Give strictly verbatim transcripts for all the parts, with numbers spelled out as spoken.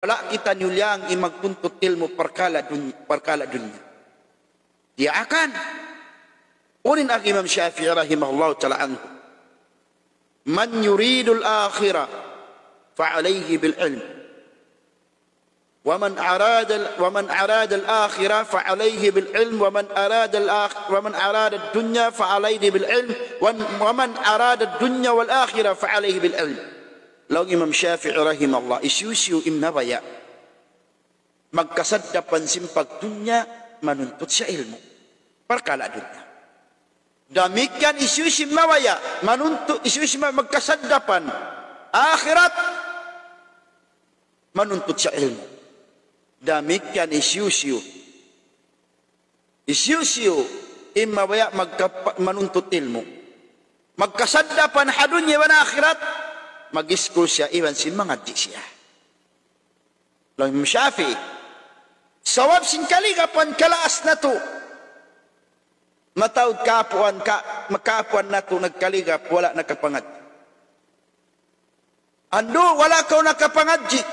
Wala' kita niyuliang in magtuntut ilmu' parkala' dunya, parkala' dunya. Diyaak. Unu in agi Imam Shafi'i rahimahullahu ta'ala anhu, من يريد الآخرة فعليه بالعلم، ومن أراد، ومن أراد الآخرة فعليه بالعلم، ومن أراد الآخ-، ومن أراد الدنيا فعليه بالعلم، ومن، ومن أراد الدنيا والآخرة فعليه بالعلم. Laung Imam Shafi'i rahimahullah, hisiyu-siyu in mabaya' magkasaddapan sin pagdunya, manuntut siya ilmu'. Parkala' dunya. Damikkiyan hisiyu-siyu in mabaya' manuntut, hisiyu-siyu in magkasaddapan akhirat, manuntut siya ilmu'. Damikkiyan hisiyu-siyu. Hisiyu-siyu in mabaya' magkapa-, manuntut ilmu', magkasaddapan ha dunya iban akhirat, mag-iskul siya iban sin mangadji' siya. Laung Imam Shafi'i, sabab sin kaligapan kalaas natu'. Mataud kaapuan ka, makaapuan natu' nagkaligap, wala' nakapangadji'. Andu', wala' kaw nakapangadji'.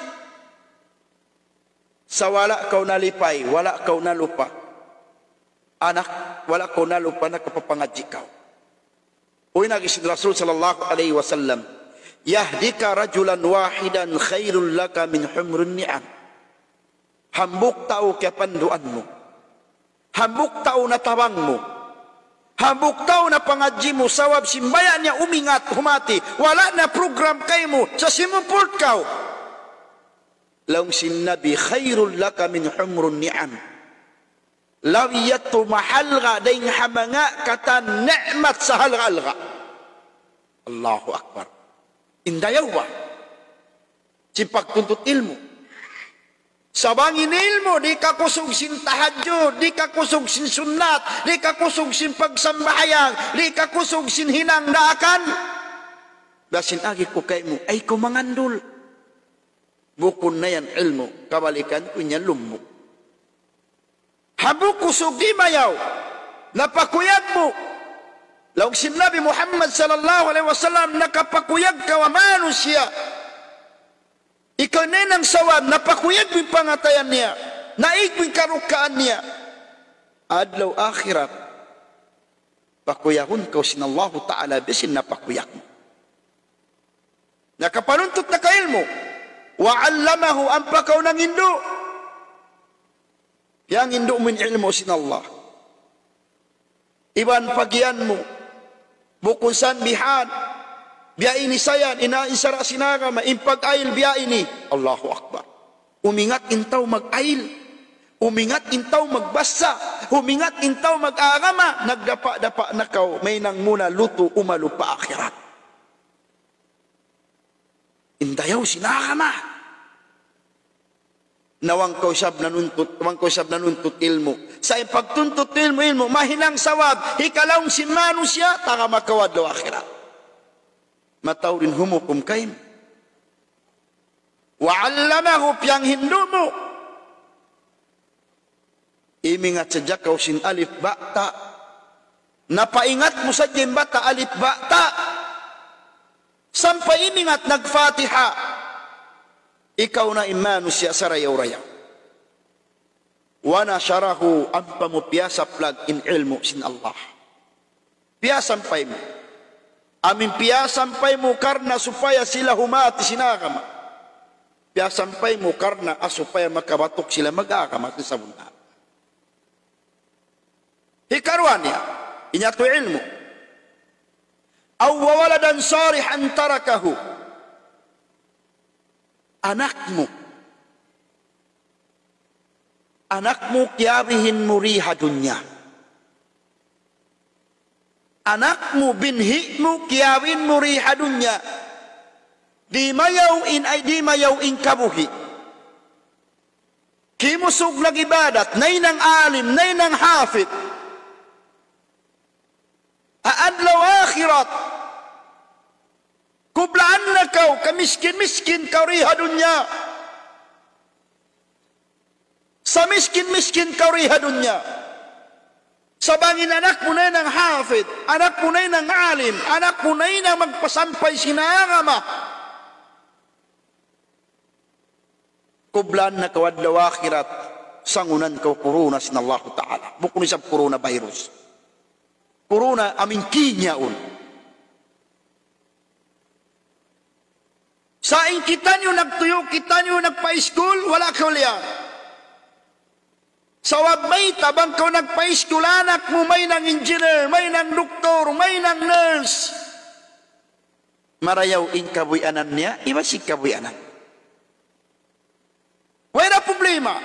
Sa' wala' kaw nalipay, wala' kaw nalupa. Anak, wala' kaw nalupa, nakapapangadji' kaw. Unu in agi sin Rasul sallallahu alayhi wasallam, يهديك رجلا واحدا خير لك من حمر النعم. Hambuuk tau kiyapanduan mu. Hambuuk tau natabang mu. Hambuuk tau napangadji' mu, sabab sin baya' niya umingat humati. Wala' na program kaymu, sa' simupult kaw. Laung sin Nabi, خير لك من حمر النعم. Labi yadtu mahalga' dayn ha manga katan ni'mat sahalga'-halga'. Allahu Akbar. In dayaw ba sin pagtuntut ilmu'. Sa' bang in ilmu' di' kakusug sin tahajjud, di' kakusug sin sunnat, di' kakusug sin pagsambahayang, di' kakusug sin hinang daakan. Biya' sin agi ku kaymu, ayaw kaw mangandul. Bukun na yan ilmu', kabalikan ku in yan lummu'. Hambuuk kusug di' mayaw, napakuyag mu. Laung sin Nabi Muhammad sallallahu alayhi wasallam, nakapakuyag kaw ha manusiya'. Ikaw in hinang sawab, napakuyag mu in pangatayan niya, naig mu in karukkaan niya. Adlaw akhirat, pakuyagun kaw sin Allahu Ta'ala biya' sin napakuyag mu. Nakapanuntut na kaw ilmu'. وعلمه, ampa kaw nangindu'. Piyangindu' mu in ilmu' sin Allah. Iban pagiyan mu. Bukun san bihan. Biya' ini sa yan, in, in sara' sin agama, in pag-ayil biya' ini. Allahu Akbar. Umingat in tau mag-ayil. Umingat in tau magbasa. Umingat in tau mag-agama. Nagdapa'-dapa' na kaw, mahinang mu na lutu' umalup pa akhirat. In dayaw sin agama. Na bang kaw isab nanuntut, bang kaw isab nanuntut ilmu'. Sa' in pagtuntut ilmu', ilmu', mahinang sawab, hikalaung sin manusiya', taga makawa' adlaw akhirat. Mataud in humukum kaymu. وعلمه, piyanghindu' mu. Imingat sadja kaw sin alif ba ta. Napaingat mu sadja in ba ta, alif ba ta. Sampay imingat nag-Fatiha. Ikaw na in manusiya' sarayaw-rayaw. ونشره, ampa mu piyasaplag in ilmu' sin Allah. Piyasampay mu. Amu in piyasampay mu karna' supaya sila humati sin agama. Piyasampay mu karna' supaya makabatuk sila mag-agama sin sabunnal. Hikaruwa niya, in yadtu ilmu'. أو ولدا صالحا تركه. Anak mu. Anak mu kiyabihin mu di ha dunya. Anak mu, binhi' mu, kiyabihin mu di ha dunya. Di' mayaw in, ay di' mayaw in kabuhi'. Kimusug nag-ibadat, nahinang alim, nahinang hafid. Ha adlaw akhirat, kublaan na kaw, kamiskin-miskin kaw di ha dunya. Samiskin-miskin kaw di ha dunya. Sa' bang in anak mu nahinang hafid, anak mu nahinang alim, anak mu nahinang magpasampay sin agama, Kublaan na kaw adlaw akhirat, sangunan kaw corona sin Allahu Ta'ala. Bukun isab coronavirus. Corona amu in kinya yaun. Sa' in kitaniyu nagtuyu', kitaniyu nagpa-iskul, wala' kaw liyang. Sabab mayta', bang kaw nagpa-iskul, anak mu mahinang engineer, mahinang doktor, mahinang nurse. Marayaw in kabuhianan niya, iban sin kabuhianan. Way da problema.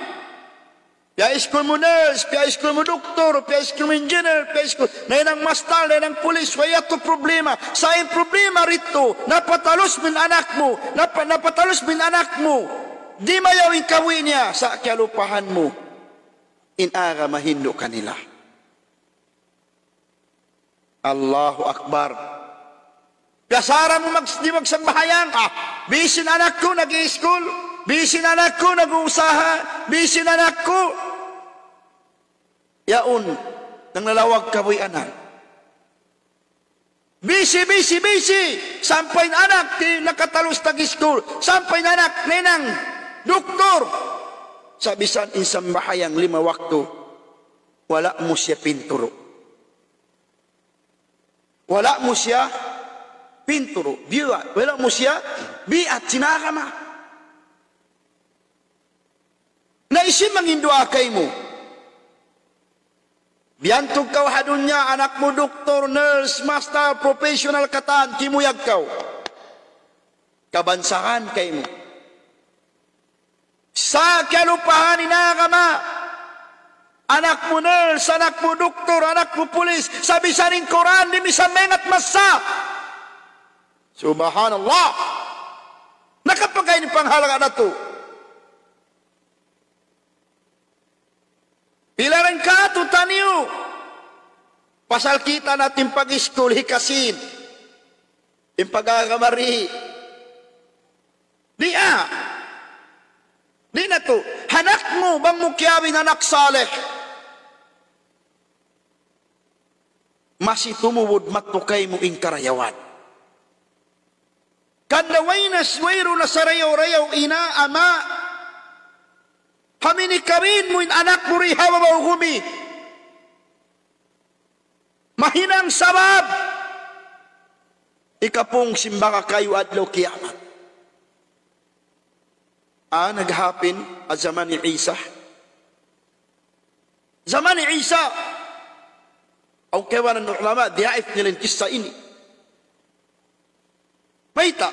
Piya-iskul mu nurse, piya-iskul mu doktor, piya-iskul mu engineer, piya-iskul, nahinang mastal, nahinang pulis, way yadtu problema. Sa' in problema didtu, napatalus mu in anak mu, napa-, napatalus mu in anak mu. Di' mayaw in kabuhi' niya, sa' kiyalupahan mu in agama hindu' kanila. Allahu Akbar. Piyasara mu mag-, di' magsambahayang, ah, busy in anak ku nag-i-school, busy in anak ku nag-uusaha, busy in anak ku. Yaun, nanglawag kabuhianan. Busy, busy, busy. Sampay in anak di' nakatalus tag-school. Sampay in anak nahinang doktor. Sa' bisan in sambahayang lima waktu, wala' mu siya pinturu'. Wala' mu siya pinturu'. Biya', wala' mu siya biat sin agama. Na hisiyu manginduwaa kaymu? Biyantug kaw ha dunya, anak mu doktor, nurse, mastal, professional katan, kimuyag kaw. Kabansagan kaymu. Sa' kiyalupahan in agama. Anak mu nurse, anak mu doktor, anak mu pulis. Sa' bisan in Qur'an, di' misan maingat masa. Subhanallah. Nakapagay in panghalga' natu'. Pila ra in katu' taniyu. Pasal kita' natu' in pag-iskul hikasin. In pag-agama di'. Di' a. Di' natu'. Anak mu, bang mu kiyawin anak salih. Masi tumubud mattu kaymu in karayawan. Kanda way na, wayruun na sarayaw-rayaw ina', ama'. Amu in kawin mu in anak mu di ha babaw gumi. Mahinang sabab hikapung sin baka kayu adlaw kiyamat. Ah, naghapin ha jaman ni Isa. Jaman ni Isa. Awn kaibanan ulama, diyaif nila in kissa ini. Mayta'?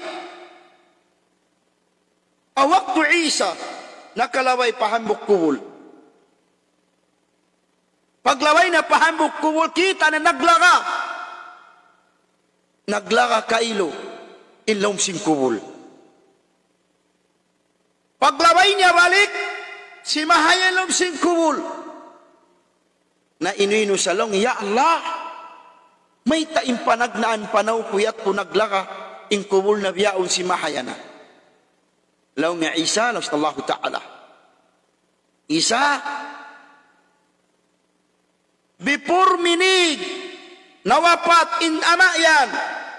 Ha waktu Isa, nakalabay pa hambuuk kubul. Paglabay niya pa hambuuk kubul, kita' niya naglaga'. Naglaga' kailu in lawm sin kubul. Paglabay niya balik, simahaya in lawm sin kubul. Na inu-inu sa laung, "Ya Allah, mayta' in panagnaan panaw ku yadtu naglaga' in kubul na bihaun simahaya na?" Laung niya Isa, laung sin Allahu Ta'ala. Isa, before minute nawapat in ama' yan,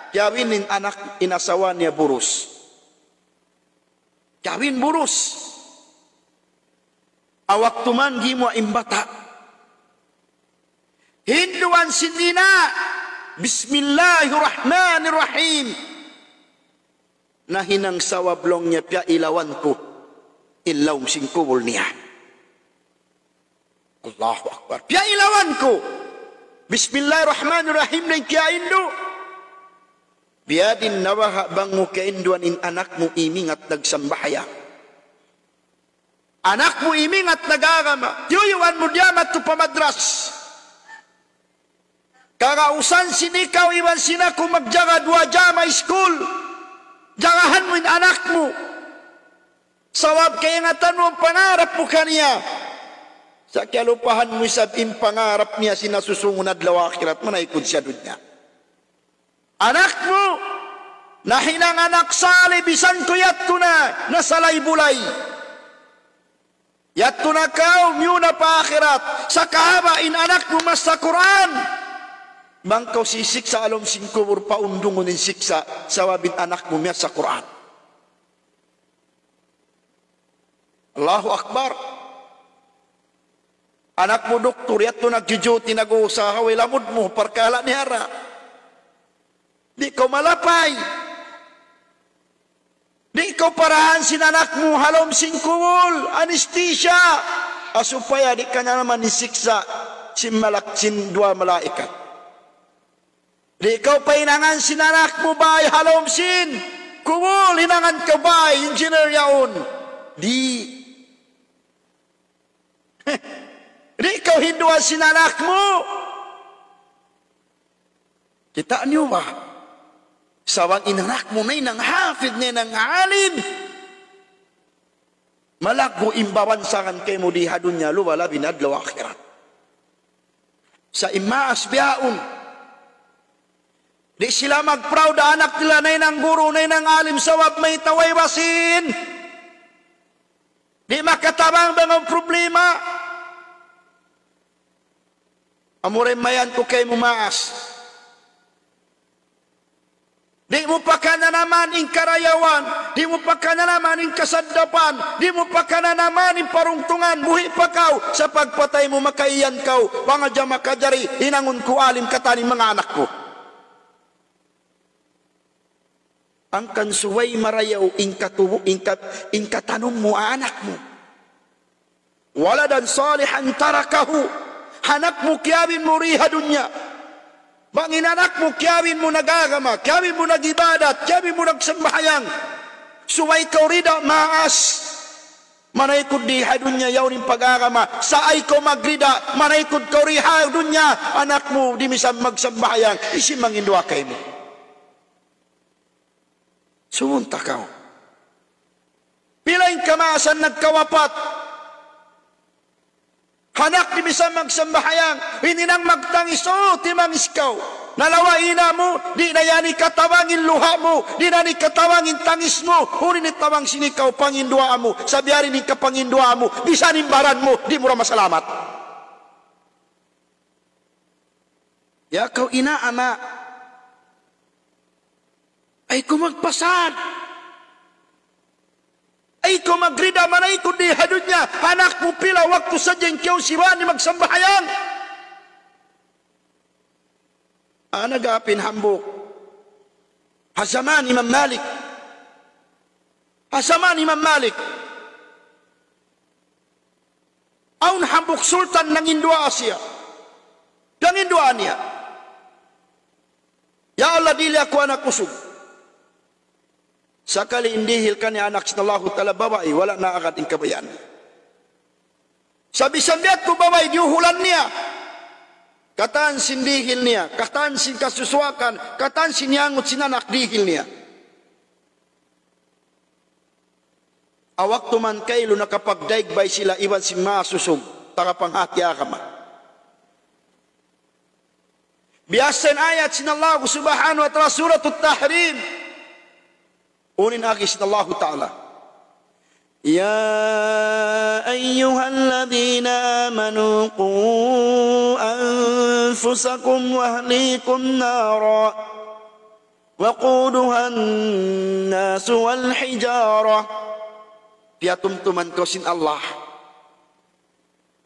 kiyawin in anak, in asawa niya burus. Kiyawin burus. Ha waktu man gimuwa' in bata', hinduan sin ina', "Bismillahirrahmanirrahim." Nahinang sabab laung niya piyailawan ku in lawm sin kubul niya. Allahu Akbar. Piyailawan ku. Bismillahirrahmanirrahim na in kiyaindu'. Biya' diin na baha' bang mu kiyainduan in anak mu imingat nagsambahayang. Anak mu imingat nag-agama. Tiyuyuan mu diya madtu pa madras. Kagausan sin ikaw iban sin aku magjaga duwa jama iskul. Jagahan mu in anak mu. Sabab kaingatan mu in pangarap mu kaniya. Sa' kiyalupahan mu isab in pangarap niya sin nasusungun adlaw akhirat, manaykud siya dunya. Anak mu, nahinang anak salih, bisan ku yadtu na, nasalay-bulay. Yadtu na kaw, miyuna pa akhirat, sa' kahaba' in anak mu masa Qur'an. Bang kaw sisiksa' ha lawm sin kubul, paundungun in siksa', sabab in anak mu miyasa Qur'an. Allahu Akbar. Anak mu doktor, yadtu nagjujuti, nag-uusaha, way lamud mu, parkala' niya ra. Di' kaw malapay. Di' kaw parahan sin anak mu ha lawm sin kubul, anesthesia. Ha supaya di' ka na naman hisiksa' sin malak-, sin duwa malaikat. Di' kaw pahinangan sin anak mu bay ha lawm sin kubul, hinangan kaw bay, engineer yaun. Di'. Di' kaw hinduan sin anak mu. Kita' niyu ba? Sa' bang in anak mu nahinang hafid, nahinang alim, malaggu' in babansagan kaymu di ha dunya, luba labi na adlaw akhirat. Sa' in maas bihaun, di' sila mag-proud ha anak nila nahinang guru, nahinang alim, sabab mayta', way basin. Di' makatabang bang awn problema. Amura in mayan ku kaymu maas. Di' mu pa kananaman in karayawan, di' mu pa kananaman in kasaddapan, di' mu pa kananaman in parungtungan, buhi' pa kaw, sa' pagpatay mu makaiyan kaw, pangadja makajari, hinangun ku alim katan in manga anak ku. Hangkan subay marayaw in katubu-, in kat-, in katanum mu ha anak mu. ولدا صالحا تركه. Anak mu kiyabin mu di ha dunya. Bang in anak mu kiyabin mu nag-agama, kiyabin mu nag-ibadat, kiyabin mu nagsambahayang. Subay kaw rida maas. Manaykud di ha dunya yaun in pag-agama. Sa' ayaw kaw magrida, manaykud kaw di ha dunya, anak mu di' misan magsambahayang, hisiyu manginduwaa kaymu? Sumunta kaw. Pila in kamaasan nagkawapat. Anak di' misan magsambahayang, hininang magtangis, o, timangis kaw. Nalawa' ina' mu, di' na yan hikatabang in luha' mu, di' na yan hikatabang in tangis mu, unu in hitabang sin ikaw panginduwaa mu, sa' biya' diin in kapanginduwaa mu, bisan in baran mu, di' mu da masalamat. Ya kaw ina', ama', ayaw kaw magpasad. Ayaw kaw magrida, manaykud di ha dunya. Anak mu pila waktu sadja in kiyausiban niya magsambahayang. Ana gapin hambuuk. Ha jaman Imam Malik. Ha jaman Imam Malik. Awn hambuuk sultan nanginduwaa siya. Nanginduwaa niya, "Ya Allah, dihili aku anak usug." Sakali in dihil kaniya anak sin Allahu Ta'ala babai, wala' na agad in kabayaan. Sa' bisan biya' tu babai, diyuhulan niya. Katan sin dihil niya, katan sin kasusuwakan, katan sin iyangut sin anak dihil niya. Ha waktu man kailu nakapagdaig bay sila iban sin maas usug, taga panghati agama. Biya' sin ayat sin Allah Subhanahu wa Ta'ala, Suratut Tahrim. Unu in agi sin Allah Ta'ala: يا أيها الذين آمنوا قوا أنفسكم وأهليكم نارا وقودها الناس والحجارة. Piyatumtuman kaw sin Allah.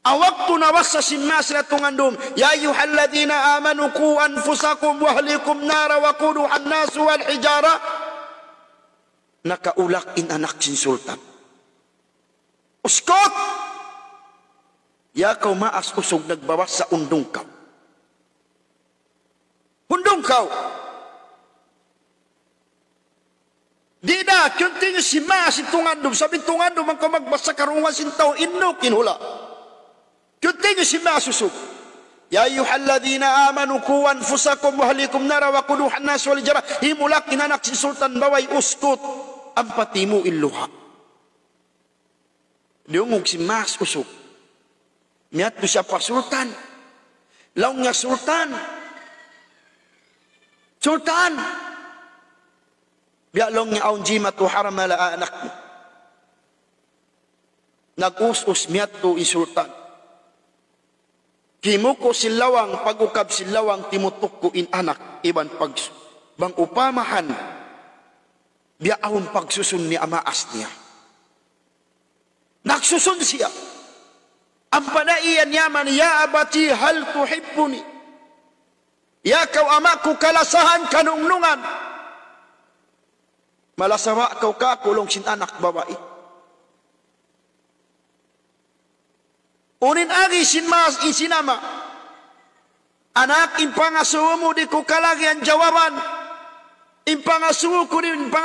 Ha waktu nabassa sin maas nila tungandum, يا أيها الذين آمنوا قوا أنفسكم وأهليكم نارا وقودها الناس والحجارة. Nakaulak in anak sin sultan. Uskut! Ya kaw maas usug nagbabassa, hundung kaw. Hundung kaw. Di' da, continue sin maas in tungandum. Sabab in tungandum bang kaw magbassa karungugan sin tau, induk in hula'. Continue sin maas usug. يا أيها الذين آمنوا قوا أنفسكم وأهليكم نارا وقودها الناس والحجارة. Himulak in anak sin sultan babai, uskut. Ampa timu' in luha'. Diyungug sin maas usug. Miyadtu siya pa sultan. Laung niya, "Sultan! Sultan! Biya' laung niya awn jimatu haram ha laa anak mu." Nag-us-us miyadtu in sultan. Kimuku' sin lawang, pag-ukab sin lawang, timutukku' in anak, iban pag-, bang upamahan, biya' awn pagsusun niya ha maas niya. Nagsusun siya. Ampa na iyan yaman, "Ya abati, hal tuhibbuni?" Ya kaw ama' ku kalasahan, kanungnungan, malasawa kaw kāku' laung sin anak babai. Unu in agi sin ma-, in sin ama'? "Anak, in pangasubu mu di' ku kalagihan jawaban. In pangasubu ku di', in pang-"